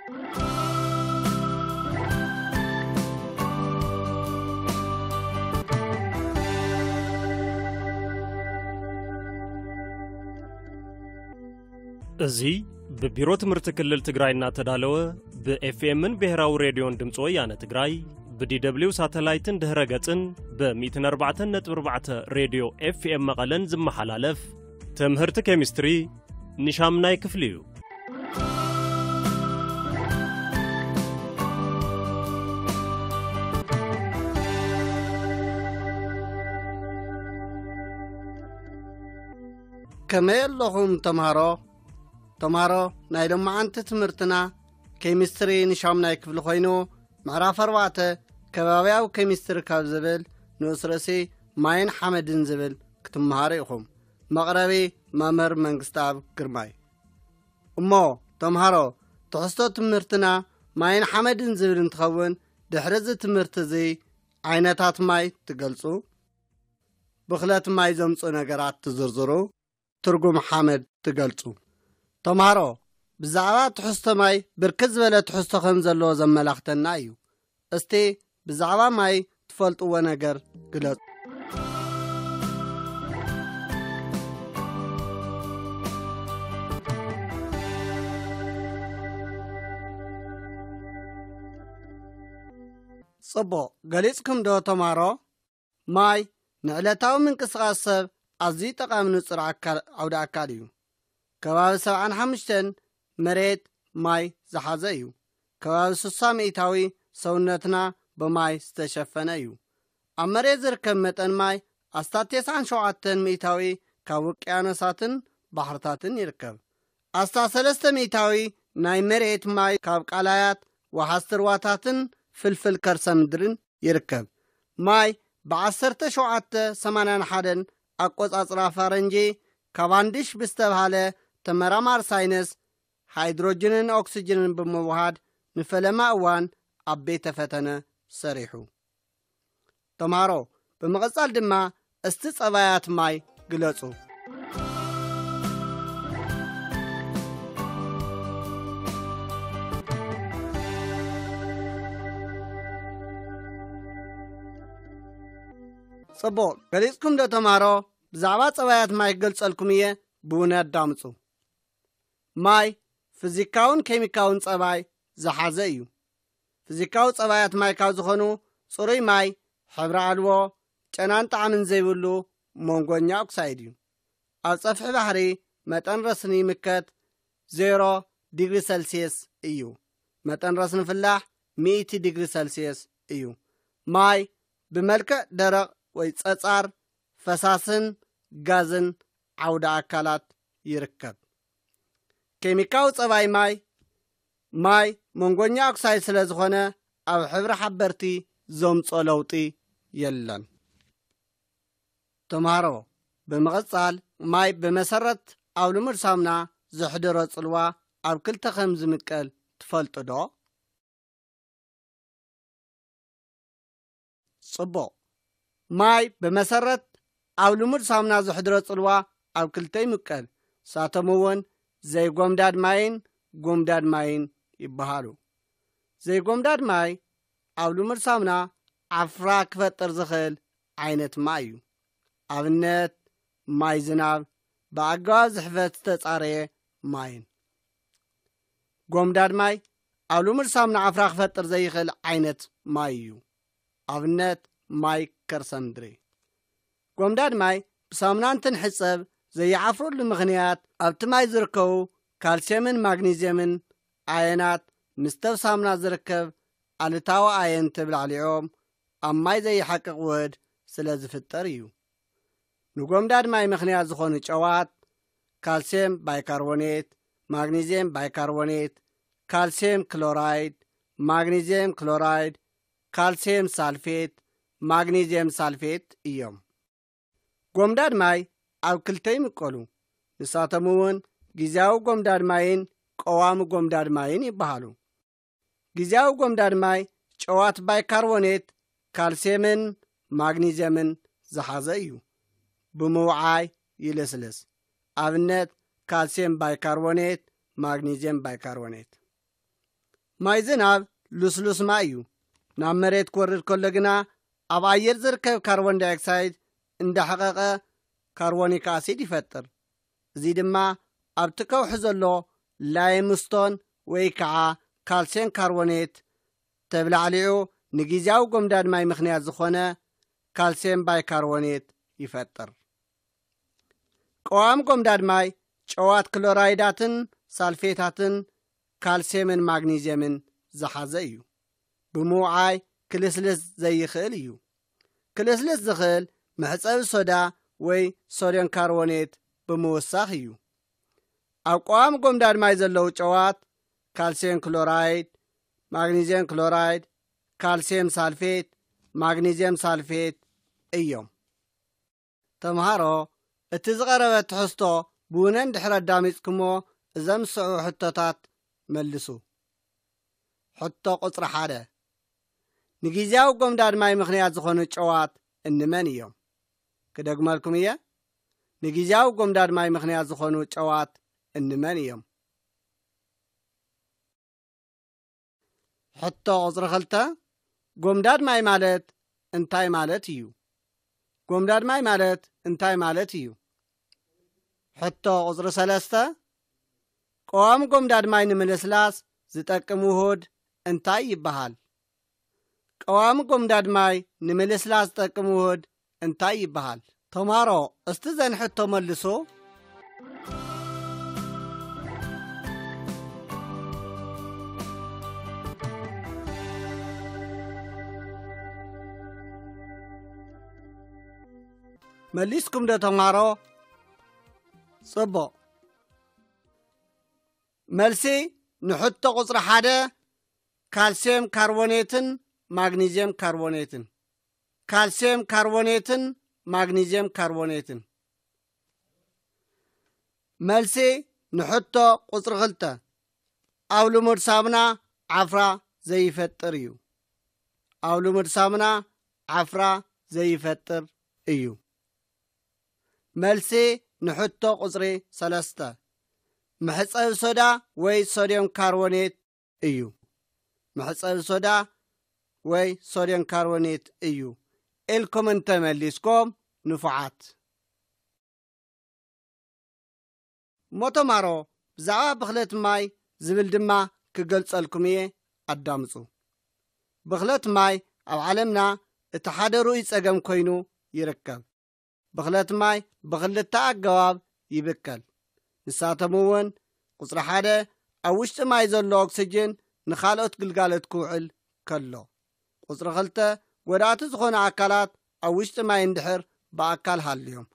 እዚ ብቢሮ ትምህርቲ ክልል ትግራይ እናተዳለወ ብኤፍኤምን ብሔራዊ ሬድዮን ድምፂ ወያነ ትግራይ ብዲ ደብሊው ሳተላይትን ድህረ ገፅን ብ ሚእትን ኣርባዕተን ነጥቢ ኣርባዕተ ሬድዮ ኤፍኤም መቐለን ዝመሓላለፍ ትምህርቲ ኬሚስትሪ ንሻምናይ ክፍሊ እዩ። ከመይ ኣለኹም ተምሃሮ? ተምሃሮ፣ ናይ ሎማዓንቲ ትምህርትና ኬሚስትሪ ንሻምናይ ክፍሊ ኮይኑ፣ ምዕራፍ ኣርባዕተ ከባብያዊ ኬሚስትሪ ካብ ዝብል ንኡስ ርእሲ ማይን ሓመድን ዝብል ክትምሃሩ ኢኹም። መቕረቢ መምህር መንግስተኣብ ግርማይ። እሞ ተምሃሮ፣ ትሕዝቶ ትምህርትና ማይን ሓመድን ዝብል እንትኸውን፣ ድሕሪ እዚ ትምህርቲ እዚ ዓይነታት ማይ ትገልጹ፣ ብኽለት ማይ ዘምጽኡ ነገራት ትዝርዝሩ፣ ትርጉም ሓመድ ትገልጹ። ተምሃሮ፣ ብዛዕባ ትሕዝቶ ማይ ብርክት ዝበለ ትሕዝቶ ከም ዘለዎ ዘመላኽተና እዩ። እስቲ ብዛዕባ ማይ ትፈልጥዎ ነገር ግለጹ። ጽቡቕ፣ ገሊጽኩም ዶ ተምሃሮ? ማይ ንዕለታዊ ምንቅስቓስ ሰብ ኣዝዩ ጠቓሚ ንጹር ኣካል፣ ዓውደ ኣካል እዩ። ከባቢ ሰብዓን ሓሙሽተን መሬት ማይ ዝሓዘ እዩ። ከባቢ ስሳ ሚእታዊ ሰውነትና ብማይ ዝተሸፈነ እዩ። ኣብ መሬት ዝርከብ መጠን ማይ ኣስታት ተስዓን ሸውዓተን ሚእታዊ ካብ ውቅያኖሳትን ባሕርታትን ይርከብ። ኣስታት ሰለስተ ሚእታዊ ናይ መሬት ማይ ካብ ቃላያት፣ ወሓዝቲ ሩባታትን ፍልፍል ከርሰ ምድርን ይርከብ። ማይ ብ ዓሰርተ ሸውዓተ ሰማንያን ሓደን ኣቆጻጽራ ፋረንጂ፣ ካቫንዲሽ ብዝተብሃለ ተመራማሪ ሳይንስ፣ ሃይድሮጅንን ኦክስጅንን ብምውሃድ ንፈለማ እዋን ኣብ ቤተ ፈተነ ሰሪሑ። ተምሃሮ፣ ብምቕጻል ድማ እስቲ ጸባያት ማይ ግለጹ። ጽቡቕ፣ ገሊጽኩም ዶ ተምሃሮ? ብዛዕባ ጸባያት ማይ ክገልጸልኩም እየ፣ ብውነ ኣዳምጹ። ማይ ፊዚካውን ኬሚካውን ጸባይ ዝሓዘ እዩ። ፊዚካዊ ጸባያት ማይ ካብ ዝኾኑ፣ ጽሩይ ማይ፣ ሕብሪ ኣልቦ፣ ጨናን ጣዕምን ዘይብሉ መንጎኛ ኦክሳይድ እዩ። ኣብ ጸፍሒ ባሕሪ መጠን ረስኒ ይምከት ዜሮ ዲግሪ ሰልስየስ እዩ። መጠን ረስኒ ፍላሕ ሚእቲ ዲግሪ ሰልስየስ እዩ። ማይ ብመልክዕ ደረቕ ወይ ጸጻር፣ ፈሳስን ጋዝን ዓውደ ኣካላት ይርከብ። ኬሚካዊ ጸባይ ማይ፣ ማይ መንጎኛ ኦክሳይድ ስለ ዝኾነ፣ ኣብ ሕብሪ ሓበርቲ ዘምጾ ለውጢ የለን። ተምሃሮ፣ ብምቕጻል ማይ ብመሰረት ኣብ ልሙድ ሳሙና ዘሕድሮ ጽልዋ ኣብ ክልተ ከም ዝምቀል ትፈልጡ ዶ? ጽቡቕ። ማይ ብመሰረት ኣብ ልሙድ ሳሙና ዘሕድሮ ጽልዋ ኣብ ክልተ ይምቀል። ንሳቶም እውን ዘይጎምዳድ ማይን ጎምዳድ ማይን ይበሃሉ። ዘይጎምዳድ ማይ ኣብ ልሙድ ሳሙና ዓፍራ ክፈጥር ዝኽእል ዓይነት ማይ እዩ። ኣብነት፣ ማይ ዝናብ፣ ብኣገባብ ዝሕፈት ዝተጻረየ ማይን። ጎምዳድ ማይ ኣብ ልሙድ ሳሙና ዓፍራ ክፈጥር ዘይኽእል ዓይነት ማይ እዩ። ኣብነት፣ ማይ ከርሰ ምድሪ። ጎምዳድ ማይ ብሳሙና እንትንሕጸብ ዘይዓፍረሉ ምኽንያት፣ ኣብቲ ማይ ዝርከቡ ካልሲየምን ማግኒዝየምን ኣየናት ምስቲ ኣብ ሳሙና ዝርከብ ኣሉታዊ ኣየን ተብላዕሊዖም ኣብ ማይ ዘይሓቅቕ ውህድ ስለ ዝፍጠር እዩ። ንጎምዳድ ማይ ምኽንያት ዝኾኑ ጨዋት፣ ካልሲየም ባይካርቦኔት፣ ማግኒዝየም ባይካርቦኔት፣ ካልሲየም ክሎራይድ፣ ማግኒዝየም ክሎራይድ፣ ካልሲየም ሳልፌት፣ ማግኒዝየም ሳልፌት እዮም። ጎምዳድ ማይ ኣብ ክልተ ይምቀሉ። ንሳቶም እውን ግዝያዊ ጎምዳድ ማይን ቀዋሚ ጎምዳድ ማይን ይበሃሉ። ግዝያዊ ጎምዳድ ማይ ጨዋት ባይካርቦኔት፣ ካልሲየምን ማግኒዝየምን ዝሓዘ እዩ። ብምውዓይ ይልስልስ። ኣብነት፣ ካልሲየም ባይካርቦኔት፣ ማግኒዝየም ባይካርቦኔት። ማይ ዝናብ ልስሉስ ማይ እዩ። ናብ መሬት ክወርድ ከሎ ግና ኣብ ኣየር ዝርከብ ካርቦን ዳይኦክሳይድ እንዳሐቐቐ ካርቦኒክ ኣሲድ ይፈጥር። እዚ ድማ ኣብቲ ከውሒ ዘሎ ላይምስቶን ወይ ከዓ ካልሲየም ካርቦኔት ተብላዕሊዑ ንግዝያዊ ጎምዳድ ማይ ምኽንያት ዝኾነ ካልሲየም ባይካርቦኔት ይፈጥር። ቀዋሚ ጎምዳድ ማይ ጨዋት ክሎራይዳትን ሳልፌታትን ካልሲየምን ማግኒዝየምን ዝሓዘ እዩ። ብምውዓይ ክልስልስ ዘይኽእል እዩ። ክልስልስ ዝኽእል መሕጸቢ ሶዳ ወይ ሶድዮን ካርቦኔት ብምውሳኽ እዩ። ኣብ ቀዋሚ ጎምዳድ ማይ ዘለዉ ጨዋት ካልሲየም ክሎራይድ፣ ማግኒዝየም ክሎራይድ፣ ካልሲየም ሳልፌት፣ ማግኒዝየም ሳልፌት እዮም። ተምሃሮ፣ እቲ ዝቐረበ ትሕዝቶ ብውነ እንድሕር ኣዳሚፅኩሞ እዘም ዝስዕቡ ሕቶታት መልሱ። ሕቶ ቁፅሪ ሓደ፣ ንግዝያዊ ጎምዳድ ማይ ምኽንያት ዝኾኑ ጨዋት እንመን እዮም? ክደግመልኩም እየ። ንግዝያዊ ጎምዳድ ማይ ምኽንያት ዝኾኑ ጨዋት እንመን እዮም? ሕቶ ቁፅሪ ክልተ፣ ጎምዳድ ማይ ማለት እንታይ ማለት እዩ? ጎምዳድ ማይ ማለት እንታይ ማለት እዩ? ሕቶ ቁፅሪ ሰለስተ፣ ቀዋሚ ጎምዳድ ማይ ንምልስላስ ዝጠቅም ውሁድ እንታይ ይበሃል? ቀዋሚ ጎምዳድ ማይ ንምልስላስ ዝጠቅም ውሁድ እንታይ ይበሃል? ተምሃሮ፣ እስቲ ዘን ሕቶ መልሱ። መሊስኩም ዶ ተምሃሮ? ጽቡቕ። መልሲ ንሕቶ ቁጽሪ ሓደ፣ ካልሲየም ካርቦኔትን ማግኒዝየም ካርቦኔትን። ካልሲየም ካርቦኔትን ማግኒዝየም ካርቦኔትን። መልሲ ንሕቶ ቁጽሪ ክልተ፣ ኣብ ልሙድ ሳሙና ዓፍራ ዘይፈጥር እዩ። ኣብ ልሙድ ሳሙና ዓፍራ ዘይፈጥር እዩ። መልሲ ንሕቶ ቁጽሪ ሰለስተ፣ መሕጸቢ ሶዳ ወይ ሶድዮም ካርቦኔት እዩ። መሕጸቢ ሶዳ ወይ ሶድዮም ካርቦኔት እዩ ኢልኩም እንተመሊስኩም ንፉዓት። እሞ ተማሮ፣ ብዛዕባ ብኽለት ማይ ዝብል ድማ ክገልጸልኩም እየ፣ ኣዳምጹ። ብኽለት ማይ ኣብ ዓለምና እቲ ሓደ ርኡይ ጸገም ኮይኑ ይርከብ። ብኽለት ማይ ብኽልተ ኣገባብ ይብከል። ንሳቶም እውን፣ ቁጽሪ ሓደ፣ ኣብ ውሽጢ ማይ ዘሎ ኦክስጅን ንኻልኦት ግልጋሎት ክውዕል ከሎ። ቁጽሪ ክልተ፣ ጎዳእቲ ዝኾኑ ኣካላት ኣብ ውሽጢ ማይ እንድሕር ብኣካል ሃልዮም።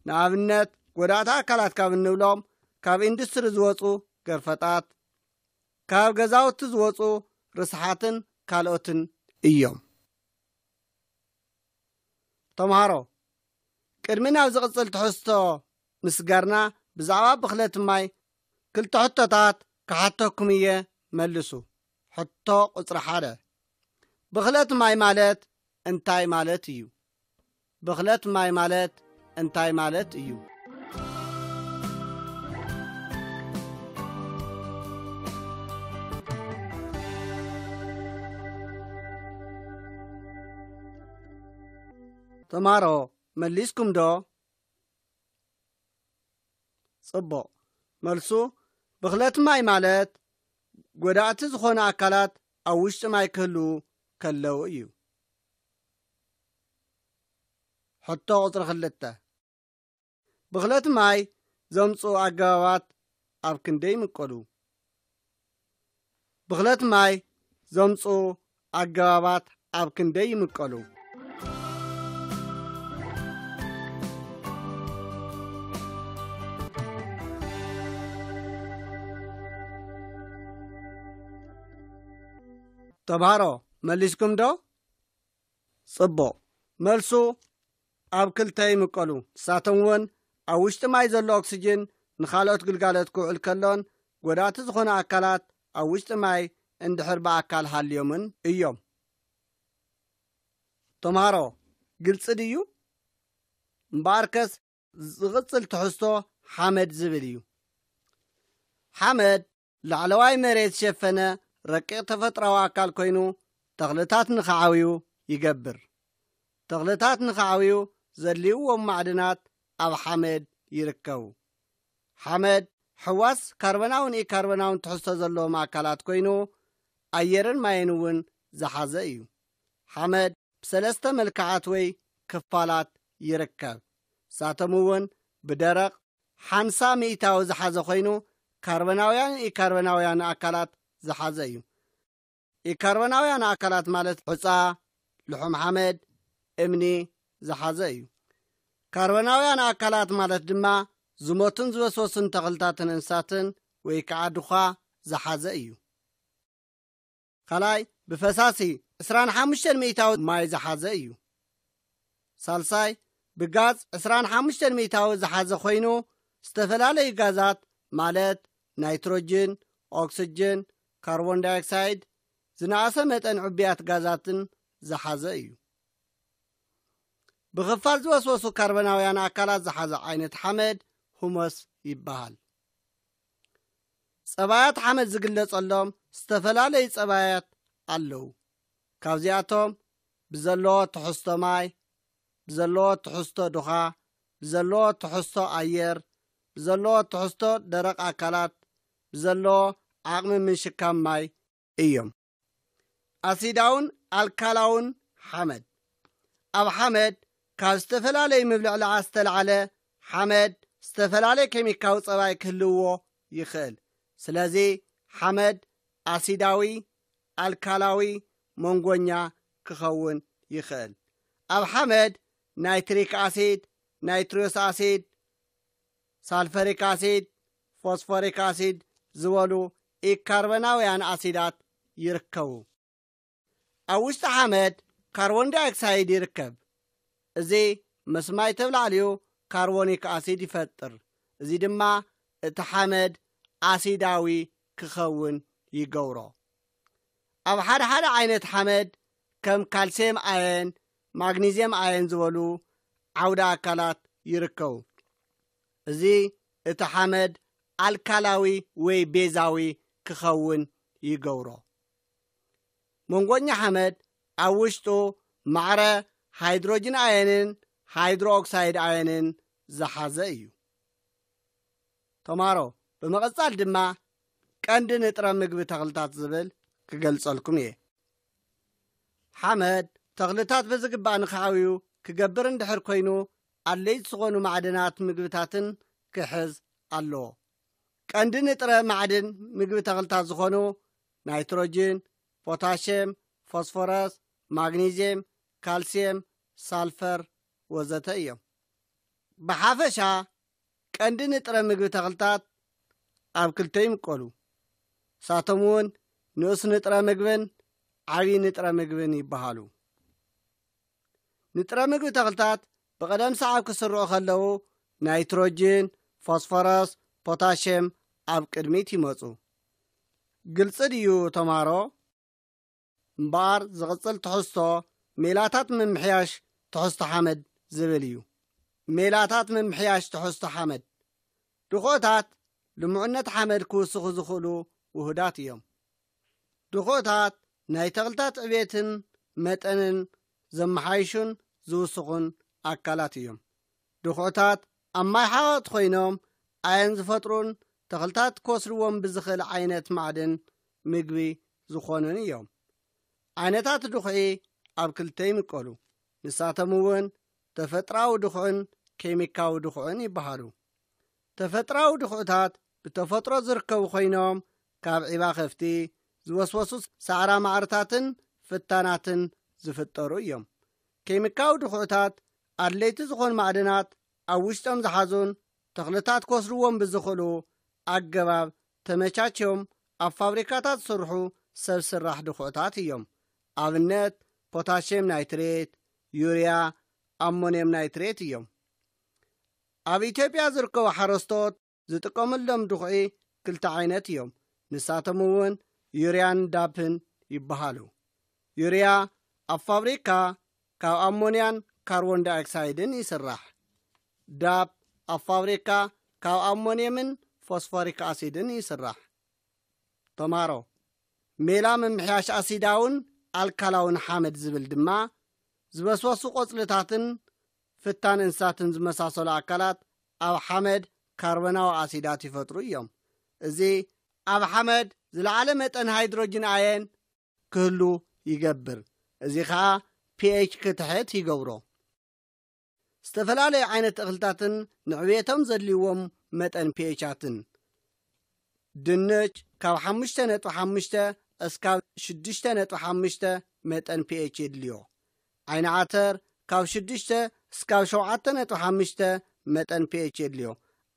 ንኣብነት፣ ጎዳእቲ ኣካላት ካብ እንብሎም፣ ካብ ኢንዱስትሪ ዝወጹ ገርፈጣት፣ ካብ ገዛውቲ ዝወጹ ርስሓትን ካልኦትን እዮም። ተምሃሮ፣ ቅድሚ ናብ ዝቕጽል ትሕዝቶ ምስጋርና፣ ብዛዕባ ብኽለት ማይ ክልተ ሕቶታት ክሓተኩም እየ፣ መልሱ። ሕቶ ቁጽሪ ሓደ፣ ብኽለት ማይ ማለት እንታይ ማለት እዩ? ብኽለት ማይ ማለት እንታይ ማለት እዩ? ተማሮ፣ መሊስኩም ዶ? ጽቡቕ። መልሱ፣ ብኽለት ማይ ማለት ጎዳእቲ ዝኾኑ ኣካላት ኣብ ውሽጢ ማይ ክህልዉ ከለዉ እዩ። ሕቶ ቁጽሪ ክልተ፣ ብኽለት ማይ ዘምጽኡ ኣገባባት ኣብ ክንደይ ይምቀሉ? ብኽለት ማይ ዘምጽኡ ኣገባባት ኣብ ክንደይ ይምቀሉ? ተምሃሮ፣ መሊስኩም ዶ? ጽቡቕ። መልሱ ኣብ ክልተ ይምቀሉ። ንሳቶም እውን ኣብ ውሽጢ ማይ ዘሎ ኦክስጅን ንኻልኦት ግልጋሎት ክውዕል ከሎን ጎዳእቲ ዝኾኑ ኣካላት ኣብ ውሽጢ ማይ እንድሕር ብኣካል ሃልዮምን እዮም። ተምሃሮ፣ ግልጺ ድዩ? እምበኣርከስ ዝቕጽል ትሕዝቶ ሓመድ ዝብል እዩ። ሓመድ ላዕለዋይ መሬት ዝሸፈነ ረቂቕ ተፈጥራዊ ኣካል ኮይኑ፣ ተኽልታት ንኽዓብዩ ይገብር። ተኽልታት ንኽዓብዩ ዘድልይዎም ማዕድናት ኣብ ሓመድ ይርከቡ። ሓመድ ሕዋስ ካርበናውን ኢካርበናውን ትሕዝቶ ዘለዎም ኣካላት ኮይኑ፣ ኣየርን ማይን እውን ዝሓዘ እዩ። ሓመድ ብሰለስተ መልክዓት ወይ ክፋላት ይርከብ። ንሳቶም እውን ብደረቕ ሓምሳ ሚእታዊ ዝሓዘ ኮይኑ፣ ካርበናውያን ኢካርበናውያን ኣካላት ዝሓዘ እዩ። ኢካርበናውያን ኣካላት ማለት ሑጻ፣ ልሑም ሓመድ፣ እምኒ ዝሓዘ እዩ። ካርበናውያን ኣካላት ማለት ድማ ዝሞቱን ዝወስወሱን ተኽልታትን እንስሳትን ወይ ከዓ ድኻ ዝሓዘ እዩ። ካልኣይ፣ ብፈሳሲ ዕስራን ሓሙሽተን ሚእታዊ ማይ ዝሓዘ እዩ። ሳልሳይ፣ ብጋዝ ዕስራን ሓሙሽተን ሚእታዊ ዝሓዘ ኮይኑ፣ ዝተፈላለዩ ጋዛት ማለት ናይትሮጅን፣ ኦክስጅን፣ ካርቦን ዳይኦክሳይድ፣ ዝነኣሰ መጠን ዕቡያት ጋዛትን ዝሓዘ እዩ። ብኽፋል ዝወስወሱ ካርበናውያን ኣካላት ዝሓዘ ዓይነት ሓመድ ሁመስ ይበሃል። ጸባያት ሓመድ ዝግለጸሎም ዝተፈላለዩ ጸባያት ኣለዉ። ካብዚኣቶም ብዘለዎ ትሕዝቶ ማይ፣ ብዘለዎ ትሕዝቶ ድኻ፣ ብዘለዎ ትሕዝቶ ኣየር፣ ብዘለዎ ትሕዝቶ ደረቕ ኣካላት፣ ብዘለዎ ዓቕሚ ምሽካም ማይ እዮም። ኣሲዳውን ኣልካላውን ሓመድ። ኣብ ሓመድ ካብ ዝተፈላለዩ ምብልዕላዓ ዝተላዕለ ሓመድ ዝተፈላለየ ኬሚካዊ ጸባይ ክህልዎ ይኽእል። ስለዚ ሓመድ ኣሲዳዊ፣ ኣልካላዊ፣ መንጎኛ ክኸውን ይኽእል። ኣብ ሓመድ ናይትሪክ ኣሲድ፣ ናይትሪዮስ ኣሲድ፣ ሳልፈሪክ ኣሲድ፣ ፎስፎሪክ ኣሲድ ዝበሉ ኢካርበናውያን ኣሲዳት ይርከቡ። ኣብ ውሽጢ ሓመድ ካርቦን ዳይኦክሳይድ ይርከብ። እዚ ምስ ማይ ተብላዕልዩ ካርቦኒክ ኣሲድ ይፈጥር። እዚ ድማ እቲ ሓመድ ኣሲዳዊ ክኸውን ይገብሮ። ኣብ ሓደ ሓደ ዓይነት ሓመድ ከም ካልሲየም ኣየን፣ ማግኒዝየም ኣየን ዝበሉ ዓውደ ኣካላት ይርከቡ። እዚ እቲ ሓመድ ኣልካላዊ ወይ ቤዛዊ ክኸውን ይገብሮ። መንጎኛ ሓመድ ኣብ ውሽጡ ማዕረ ሃይድሮጅን ኣየንን ሃይድሮ ኦክሳይድ ኣየንን ዝሓዘ እዩ። ተማሮ፣ ብምቕጻል ድማ ቀንዲ ንጥረ ምግቢ ተኽልታት ዝብል ክገልጸልኩም እየ። ሓመድ ተኽልታት ብዝግባእ ንኽዓብዩ ክገብር እንድሕር ኮይኑ፣ ኣድለይቲ ዝኾኑ ማዕድናት ምግብታትን ክሕዝ ኣለዎ። ቀንዲ ንጥረ ማዕድን ምግቢ ተኽልታት ዝኾኑ ናይትሮጅን፣ ፖታሽየም፣ ፎስፎረስ፣ ማግኒዝየም፣ ካልሲየም፣ ሳልፈር ወዘተ እዮም። ብሓፈሻ ቀንዲ ንጥረ ምግቢ ተኽልታት ኣብ ክልተ ይምቀሉ። ንሳቶም እውን ንኡስ ንጥረ ምግብን ዓብዪ ንጥረ ምግብን ይበሃሉ። ንጥረ ምግቢ ተኽልታት ብቐደም ሰዓብ ክስርዑ ከለዉ ናይትሮጅን፣ ፎስፎረስ፣ ፖታሽየም ኣብ ቅድሚት ይመጹ። ግልጺ ድዩ ተማሮ? እምበኣር ዝቕጽል ትሕዝቶ ሜላታት ምምሕያሽ ትሕዝቶ ሓመድ ዝብል እዩ። ሜላታት ምምሕያሽ ትሕዝቶ ሓመድ። ድኹዕታት ልሙዕነት ሓመድ ክውስኹ ዝኽእሉ ውሁዳት እዮም። ድኹዕታት ናይ ተኽልታት ዕቤትን መጠንን ዘመሓይሹን ዝውስኹን ኣካላት እዮም። ድኹዕታት ኣብ ማይ ሓቐቕቲ ኮይኖም ኣየን ዝፈጥሩን ተኽልታት ክወስድዎም ብዝኽእል ዓይነት ማዕድን ምግቢ ዝኾኑን እዮም። ዓይነታት ድኹዒ ኣብ ክልተ ይምቀሉ። ንሳቶም እውን ተፈጥራዊ ድኹዕን ኬሚካዊ ድኹዕን ይበሃሉ። ተፈጥራዊ ድኹዕታት ብተፈጥሮ ዝርከቡ ኮይኖም ካብ ዒባ ከፍቲ፣ ዝወስወሱ ሳዕራ ማዕርታትን ፍታናትን ዝፍጠሩ እዮም። ኬሚካዊ ድኹዕታት ኣድለይቲ ዝኾኑ ማዕድናት ኣብ ውሽጦም ዝሓዙን ተኽልታት ክወስድዎም ብዝኽእሉ ኣገባብ ተመቻችዮም ኣብ ፋብሪካታት ዝስርሑ ሰብ ስራሕ ድኹዕታት እዮም። ኣብነት ፖታሽየም ናይትሬት፣ ዩርያ፣ ኣሞንየም ናይትሬት እዮም። ኣብ ኢትዮጵያ ዝርከቡ ሓረስቶት ዝጥቀምሎም ድኹዒ ክልተ ዓይነት እዮም። ንሳቶም እውን ዩርያን ዳፕን ይበሃሉ። ዩርያ ኣብ ፋብሪካ ካብ ኣሞንያን ካርቦን ዳይኦክሳይድን ይስራሕ። ዳፕ ኣብ ፋብሪካ ካብ ኣሞንየምን ፎስፎሪክ ኣሲድን ይስራሕ። ተማሮ፣ ሜላ ምምሕያሽ ኣሲዳውን ኣልካላውን ሓመድ ዝብል ድማ ዝበስበሱ ቆጽልታትን ፍታን እንስሳትን ዝመሳሰሉ ኣካላት ኣብ ሓመድ ካርቦናዊ ኣሲዳት ይፈጥሩ እዮም። እዚ ኣብ ሓመድ ዝለዓለ መጠን ሃይድሮጅን ኣየን ክህሉ ይገብር። እዚ ኸኣ ፒኤች ክትሕት ይገብሮ። ዝተፈላለዩ ዓይነት እኽልታትን ንዕብየቶም ዘድልይዎም መጠን ፒኤቻትን። ድንች ካብ ሓሙሽተ ነጥቢ ሓሙሽተ እስካብ ሽዱሽተ ነጥቢ ሓሙሽተ መጠን ፒኤች የድልዮ። ዓይኒ ዓተር ካብ ሽዱሽተ እስካብ ሸውዓተ ነጥቢ ሓሙሽተ መጠን ፒኤች የድልዮ።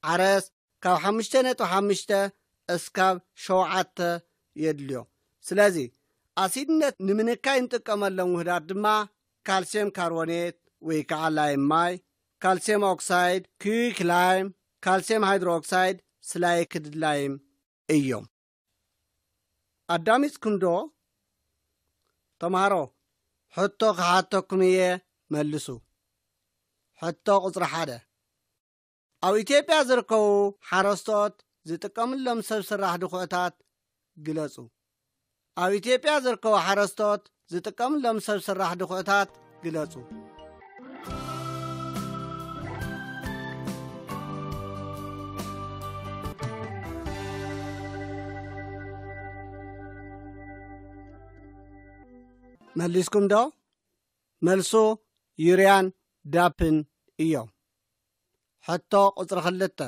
ዓረስ ካብ ሓሙሽተ ነጥቢ ሓሙሽተ እስካብ ሸውዓተ የድልዮ። ስለዚ ኣሲድነት ንምንካይ እንጥቀመሎም ውህዳት ድማ ካልሲየም ካርቦኔት ወይ ከዓ ላይም ማይ፣ ካልሲየም ኦክሳይድ፣ ኪዩክ ላይም፣ ካልሲየም ሃይድሮኦክሳይድ፣ ስላይክድ ላይም እዮም። ኣዳሚፅኩም ዶ? ተምሃሮ፣ ሕቶ ክሓተኩም እየ፣ መልሱ። ሕቶ ቁፅሪ ሓደ። ኣብ ኢትዮጵያ ዝርከቡ ሓረስቶት ዝጥቀምሎም ሰብ ስራሕ ድኹዕታት ግለጹ። ኣብ ኢትዮጵያ ዝርከቡ ሓረስቶት ዝጥቀምሎም ሰብ ስራሕ ድኹዕታት ግለጹ። መሊስኩም ዶ? መልሱ ዩርያን ዳፕን እዮም። ሕቶ ቁጽሪ ክልተ።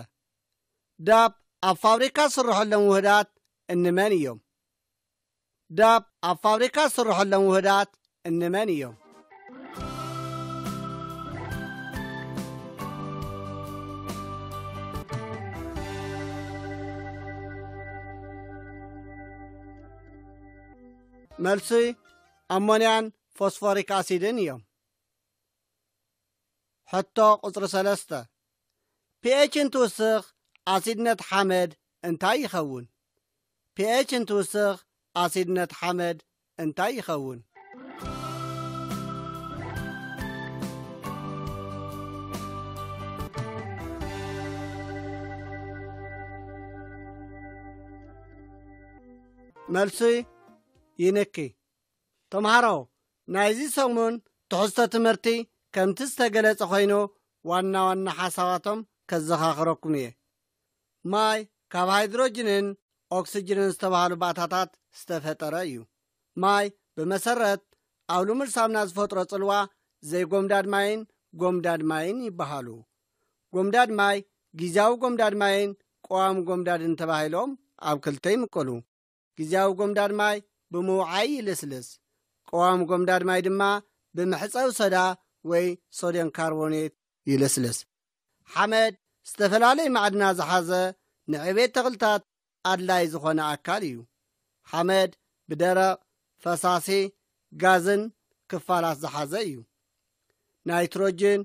ዳፕ ኣብ ፋብሪካ ዝስርሐሎም ውህዳት እንመን እዮም? ዳፕ ኣብ ፋብሪካ ዝስርሐሎም ውህዳት እንመን እዮም? መልሲ ኣሞንያን ፎስፎሪክ ኣሲድን እዮም። ሕቶ ቁጽሪ ሰለስተ። ፒኤች እንትውስኽ ኣሲድነት ሓመድ እንታይ ይኸውን? ፒኤች እንትውስኽ ኣሲድነት ሓመድ እንታይ ይኸውን? መልሲ ይንኪ። ተምሃሮ፣ ናይዚ ሰሙን ትሕዝቶ ትምህርቲ ከምቲ ዝተገለጸ ኮይኑ ዋና ዋና ሓሳባቶም ከዘኻኽረኩም እየ። ማይ ካብ ሃይድሮጅንን ኦክስጅንን ዝተባህሉ ባእታታት ዝተፈጠረ እዩ። ማይ ብመሰረት ኣብ ልሙድ ሳምና ዝፈጥሮ ጽልዋ ዘይጎምዳድ ማይን ጎምዳድ ማይን ይበሃሉ። ጎምዳድ ማይ፣ ግዝያዊ ጎምዳድ ማይን ቀዋሚ ጎምዳድን ተባሂሎም ኣብ ክልተ ይምቀሉ። ግዝያዊ ጎምዳድ ማይ ብምውዓይ ይልስልስ። ቀዋሚ ጎምዳድ ማይ ድማ ብምሕጸብ ሶዳ ወይ ሶድየም ካርቦኔት ይልስልስ። ሓመድ ዝተፈላለየ ማዕድናት ዝሓዘ ንዕቤት ተኽልታት ኣድላይ ዝኾነ ኣካል እዩ። ሓመድ ብደረቕ፣ ፈሳሲ፣ ጋዝን ክፋላት ዝሓዘ እዩ። ናይትሮጅን፣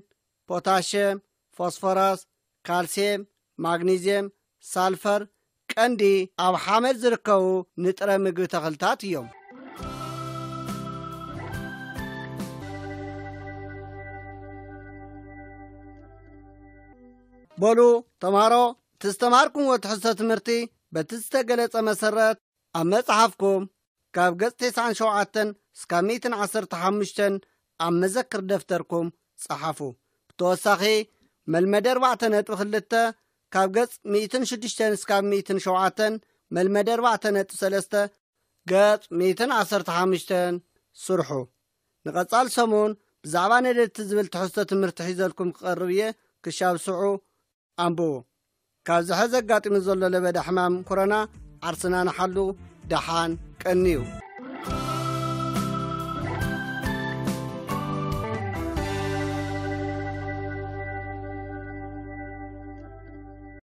ፖታሽየም፣ ፎስፎረስ፣ ካልሲየም፣ ማግኒዝየም፣ ሳልፈር ቀንዲ ኣብ ሓመድ ዝርከቡ ንጥረ ምግቢ ተኽልታት እዮም። በሉ ተምሃሮ፣ እቲ ዝተምሃርኩምዎ ትሕዝቶ ትምህርቲ በቲ ዝተገለጸ መሰረት ኣብ መጽሓፍኩም ካብ ገጽ ተስዓን ሸውዓተን እስካብ ሚእትን ዓሰርተ ሓሙሽተን ኣብ መዘክር ደፍተርኩም ጸሓፉ። ብተወሳኺ መልመደ ኣርባዕተ ነጥቢ ክልተ ካብ ገጽ ሚእትን ሽዱሽተን እስካብ ሚእትን ሸውዓተን፣ መልመደ ኣርባዕተ ነጥቢ ሰለስተ ገጽ ሚእትን ዓሰርተ ሓሙሽተን ስርሑ። ንቐጻል ሰሙን ብዛዕባ ነደድቲ ዝብል ትሕዝቶ ትምህርቲ ሒዘልኩም ክቐርብ እየ። ክሻብ ስዑ ኣንብቡ። ካብዚ ሐዚ ኣጋጢሙ ዘሎ ለበዳ ሕማም ኮሮና ዓርስና ንሓሉ። ደሓን ቀንዩ።